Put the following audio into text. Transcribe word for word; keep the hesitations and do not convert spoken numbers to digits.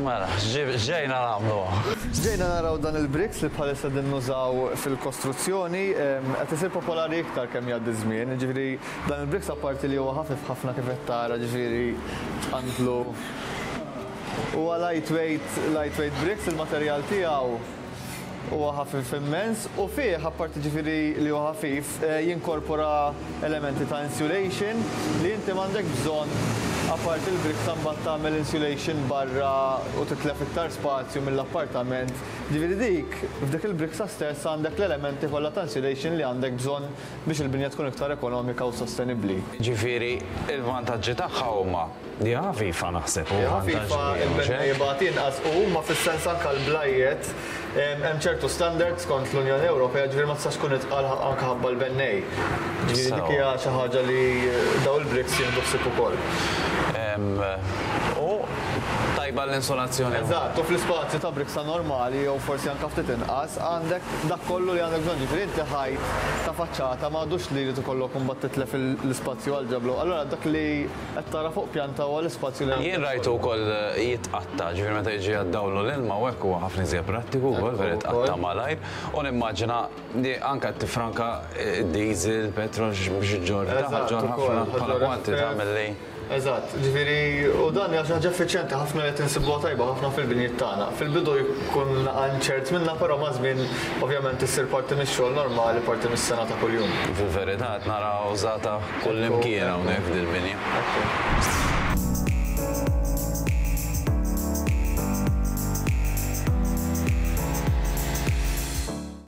Mela, ġejna nagħmlu. Ġejna naraw dan il-bricks li bħalissa din nużaw fil-kostruzzjoni, qed isir popolari iktar kemm jgħaddi żmien, ġifieri dan il-bricks, apparti li huwa ħafif ħafna kif qed tara, ġifieri tqantlu. Huwa lightweight, lightweight bricks, il-materjal tiegħu huwa ħafif immens u fih, apparti ġifieri li huwa ħafif, eh, jinkorpora elementi ta' insulation li inti m'għandek bżonn apparti il-bricks mbagħad tagħmel insulation barra u titlef iktar spazju mill-appartament. Ġifieri dik, f'dik il-briksa stess għandek l-elementi kollha ta' insulation li għandek bżonn biex il-binja tkun iktar ekonomika u sostenibbli. Ġifieri, il-vantaġġi tagħha huma li ħafifa, naħseb. U ħafifa, il-bennej jibgħat inqas u huma fis-sens anke l-blajjet hemm ċertu standards skont l-Unjoni Ewropea, ġifieri ma tistax tkun itqal anke ħabba l-bennej. Ġifieri dik hija xi ħaġa li daw il-bricks jieħdu ħsieb ukoll. U tajba l-insolazzjoni. Eżatt, u fl-ispazju ta' briksa normali jew forsi anke ftit inqas għandek dak kollu li għandek bżonn. Ġifieri inti ħajt ta' faċċata m'għadux li jrid ikollok imbagħad titlef l-ispazju għal ġablu. Allura dak li qed tara fuq pjanta huwa l-ispazju li Jien rajtu wkoll jitqatta, ġifieri meta jiġi għad-dawlu l-ilma u hekk huwa ħafna iżjed prattiku wkoll, vera jitqatta malajr. U nimmaġina li anke tifranka diesel, petrol biex iġġorr, ġorr ħafna bħala kwantità milli. Eżatt, ġifieri, u dan hija xi ħaġa effiċjenti ħafna li qed insibuha tajba ħafna fil-binjiet tagħna. Fil-bidu jkun ċert minna, però ma' żmien ovvjament issir parti mix-xogħol normali, parti mis-sena ta' kuljum. Fil-verità qed nara użata kull imkien hawnhekk f'dil-binja.